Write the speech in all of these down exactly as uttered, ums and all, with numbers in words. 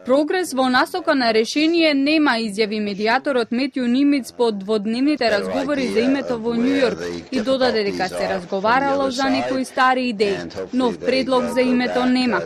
Прогрес во насока на решение нема, изјави медијаторот Метју Нимиц по дводневните разговори за името во Њу Јорк и додаде дека се разговарало за некои стари идеи. Нов предлог за името нема.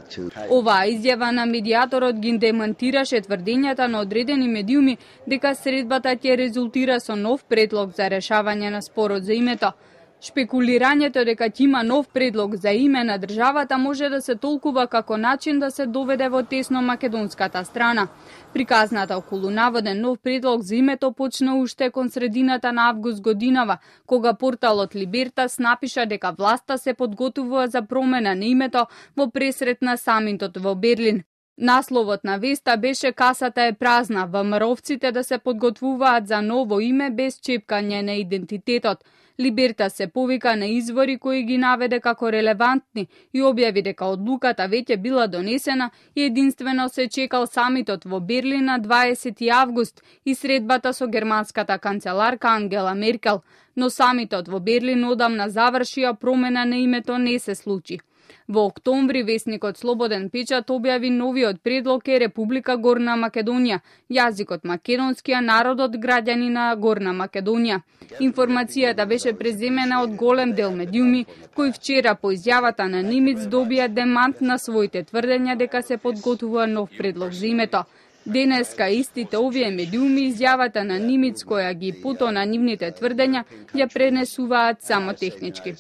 Оваа изјава на медијаторот ги демантираше тврдењата на одредени медиуми дека средбата ќе резултира со нов предлог за решавање на спорот за името. Шпекулирањето дека ќе има нов предлог за име на државата може да се толкува како начин да се доведе во тесно македонската страна. Приказната околу наводен нов предлог за името почна уште кон средината на август годинава, кога порталот Либертас напиша дека власта се подготвува за промена на името во пресрет на самитот во Берлин. Насловот на веста беше "Касата е празна, ВМРО-вците да се подготвуваат за ново име без чепкање на идентитетот". Либерта се повика на извори кои ги наведе како релевантни и објави дека одлуката веќе била донесена и единствено се чекал самитот во Берлин на дваесети август и средбата со германската канцеларка Ангела Меркел. Но самитот во Берлин одамна заврши, а промена на името не се случи. Во октомври весникот Слободен печат објави новиот предлог е Република Горна Македонија, јазикот македонски, а народот граѓани на Горна Македонија. Информацијата беше преземена од голем дел медиуми, кои вчера по изјавата на Нимиц добија демант на своите тврдења дека се подготвува нов предлог за името. Денеска истите овие медиуми изјавата на Нимиц која ги потона нивните тврдења ја пренесуваат само технички.